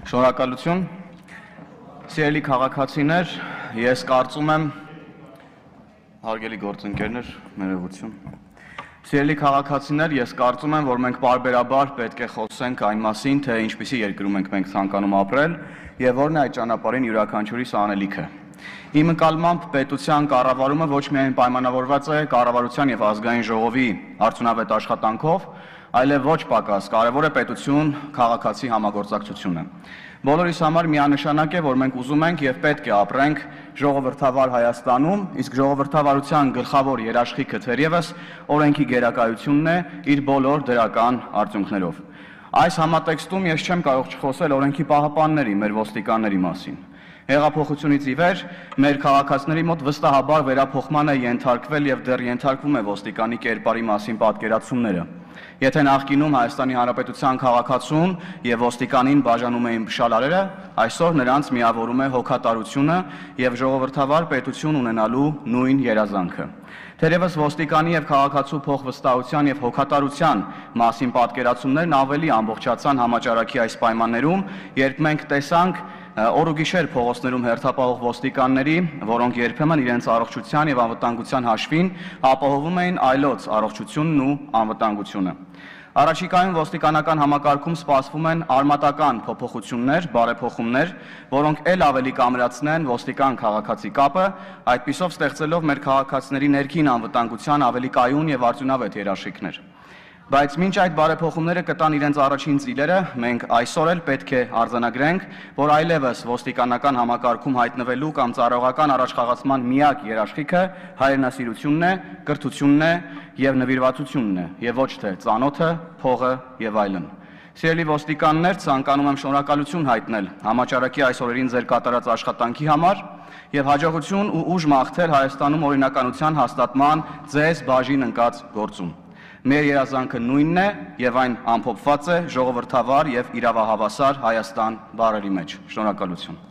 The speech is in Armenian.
Շնորհակալություն, սիրելի քաղաքացիներ, ես կարծում եմ, հարգելի գործընկերներ, ներողություն, սիրելի քաղաքացիներ, ես կարծում եմ, որ մենք պարբերաբար պետք է խոսենք այն մասին, թե ինչպիսի երկրում ենք մենք ցանկանում ապրել եւ որն է այդ ճանապարհին յուրաքանչյուրիս անելիքը։ Իմ ընկալմամբ պետության կառավարումը ոչ միայն պայմանավորված է կառավարության եւ ազգային ժողովի արդյունավետ աշխատանքով, այլև ոչ պակաս կարևոր է պետություն քաղաքացի համագործակցությունը։ Բոլորիս համար միանշանակ է, որ մենք ուզում ենք եւ պետք է ապրենք ժողովրդավար Հայաստանում, իսկ ժողովրդավարության գլխավոր երաշխիքը թերևս օրենքի գերակայությունն է իր բոլոր դրական արդյունքներով։ Այս համատեքստում ես չեմ կարող չխոսել օրենքի պահապանների, մեր ոստիկանների մասին։ Հեղափոխությունից ի վեր մեր քաղաքացիների մոտ վստահաբար վերափոխման է ենթարկվել եւ դեռ ենթարկվում է ոստիկանի կերպարի մասին պատկերացումները։ Եթե նախկինում Հայաստանի Հանրապետության քաղաքացուն եւ ոստիկանին բաժանում էին փշալարերը, այսօր նրանց միավորում է հոգատարությունը եւ ժողովրդավար պետություն ունենալու նույն երազանքը։ Թերևս ոստիկանի եւ քաղաքացու փոխվստահության եւ հոգատարության մասին պատկերացումներն ավելի ամբողջացան համաճարակի այս պայմաններում, երբ մենք տեսանք օր ու գիշեր փողոցներում հերթապահող ոստիկանների, որոնք երբեմն իրենց առողջության եւ անվտանգության հաշվին ապահովում էին այլոց առողջությունն ու անվտանգությունը։ Առաջիկայում ոստիկանական համակարգում սպասվում են արմատական փոփոխություններ, բարեփոխումներ, որոնք ել ավելի կամրացնեն ոստիկան քաղաքացի կապը, այդպիսով ստեղծելով մեր քաղաքացիների ներքին անվտանգության ավելի կայուն եւ արդյունավետ երաշխիքներ։ Բայց մինչ այդ բարեփոխումները կտան իրենց առաջին ծիլերը, մենք այսօր էլ պետք է արձանագրենք, որ այլևս ոստիկանական համակարգում հայտնվելու կամ ծառայողական առաջխաղացման միակ երաշխիքը հայրենասիրությունն է, կրթությունն է եւ նվիրվածությունն է, եւ ոչ թե ծանոթը, փողը եւ այլն։ Սիրելի ոստիկաններ, ցանկանում եմ շնորհակալություն հայտնել համաճարակի այս օրերին ձեր կատարած աշխատանքի համար եւ հաջողություն ու ուժ մաղթել Հայաստանում օրինականության հաստատման ձեզ բաժին ընկած գործում։ Մեր երազանքը նույնն է եւ այն ամփոփված է ժողովրդավար եւ իրավահավասար Հայաստան բառերի մեջ։ Շնորհակալություն։